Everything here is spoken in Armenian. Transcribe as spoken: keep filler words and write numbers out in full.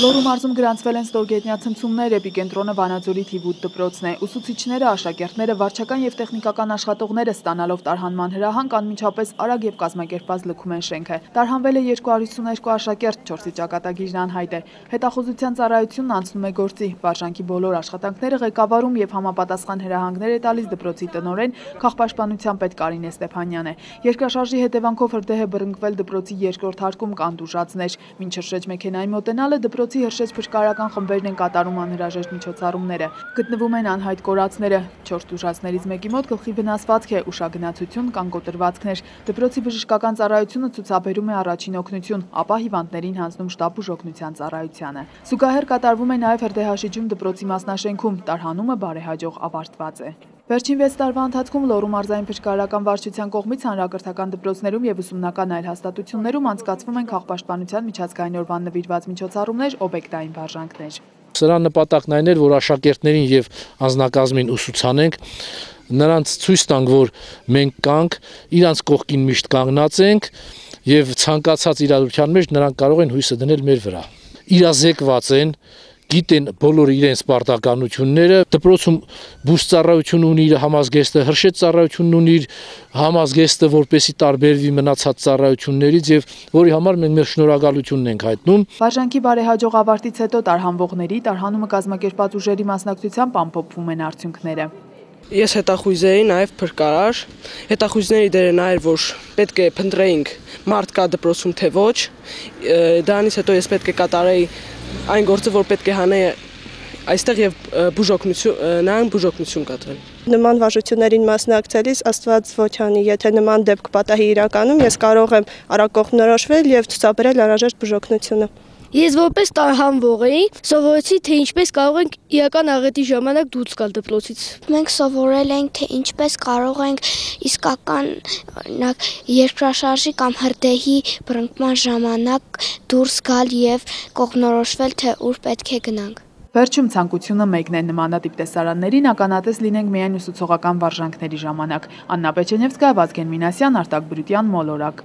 Լոռու մարզում գրանցվել են ստորգետնյա ցնցումներ, էպիկենտրոնը Վանաձորի թիվ ութ դպրոցն է։ Ուսուցիչները, աշակերտները, վարչական եւ տեխնիկական աշխատողները ստանալով տարհանման հրահանգ անմիջապես արագ եւ կազմակերպված լքում են շենքը։ Տարհանվել է երկու հարյուր հիսուներկու աշակերտ, չորսի ճակատագիրն անհայտ է։ Հետախուզության ծառայությունն անցնում է գործի։ Վարժանքի բոլոր աշխատանքները ղեկավարում եւ համապատասխան հրահանգներ է տալիս դպրոցի տնօրեն, քաղաքապաշտպանության պետ Կարինե Ստեփանյանը։ Երկրաշարժի հետևանքով հրդեհ է բռնկվել դպրոցի երկրորդ հարկում կանտուժածներ։ Մինչ հրշեջ մեքենայի մոտենալը դպրոցի հրշեջ փրկարարական խմբերն են կատարում անհրաժեշտ միջոցառումները։ Գտնվում են անհայտ կորածները։ Չորս տուժածներից մեկի մոտ գլխի վնասվածք է, ուշագնացություն կան կոտրվածքներ։ Դպրոցի բժշկական ծառայությունը ցուցաբերում է առաջին օգնություն, ապա հիվանդներին հանձնում շտապ բուժօգնության ծառայությանը։ Զուգահեռ կատարվում է նաև հրդեհաշիջում դպրոցի մասնաշենքում, տարհանումը բարեհաջող ավարտված է։ Վերջին վեց տարվա ընթացքում Լոռու մարզային փրկարարական վարչության կողմից հանրակրթական դպրոցներում եւ ուսումնական այլ հաստատություններում անցկացվում են քաղաքապաշտպանության միջազգային օրվան նվիրված միջոցառումներ, օբյեկտային վարժանքներ։ Սրա նպատակն այն էր, որ աշակերտներին եւ անձնակազմին ուսուցանենք, նրանց ցույց տանք, որ մենք կանք, իրանց կողքին միշտ կանգնած ենք եւ ցանկացած իրադրության մեջ նրանք կարող են հույսը դնել մեր վրա։ Իրազեկված են, գիտեն բոլոր իրենց պարտականությունները, դպրոցում բուժ ծառայություն ունի իր համազգեստը, հրշեջ ծառայությունն ունի իր համազգեստը, որպեսզի տարբերվի մնացած ծառայություններից եւ որի համար մենք մեր շնորհակալությունն ենք հայտնում։ Վարժանքի բարեհաջող ավարտից հետո տարհանվողների տարհանումը կազմակերպված ուժերի մասնակցությամբ ամփոփվում են արդյունքները։ Ես հետախույզ էի նաև փրկարար, հետախույզների դերը նա էր, որ պետք է փնտրեինք մարդ կա դպրոցում թե ոչ, դրանից հետո ես պետք է կատարեի այն գործը, որ պետք է հանեի այստեղ եւ բուժօգնություն, նրան բուժօգնություն կատարել։ Նման վարժություններին մասնակցելիս Աստված ոչ անի, եթե նման դեպք պատահի իրականում, ես կարող եմ արագ կողմնորոշվել եւ ցուցաբերել անհրաժեշտ բուժօգնությունը։ Ես որպես տարհանվող էի, սովորեցի, թե ինչպես կարող ենք իրական աղետի ժամանակ դուրս գալ դպրոցից։ Մենք սովորել ենք, թե ինչպես կարող ենք իսկական, օրինակ, երկրաշարժի կամ հրդեհի բռնկման ժամանակ դուրս գալ եւ կողմնորոշվել, թե ուր պետք է գնանք։ Վերջում ցանկությունը մեկն է նմանատիպ տեսարաններին ականատես լինենք միայն ուսուցողական վարժանքների ժամանակ։ Աննա Պեչենևսկայա, Վազգեն Մինասյան, Արտակ Բրուտյան, Մոլորակ։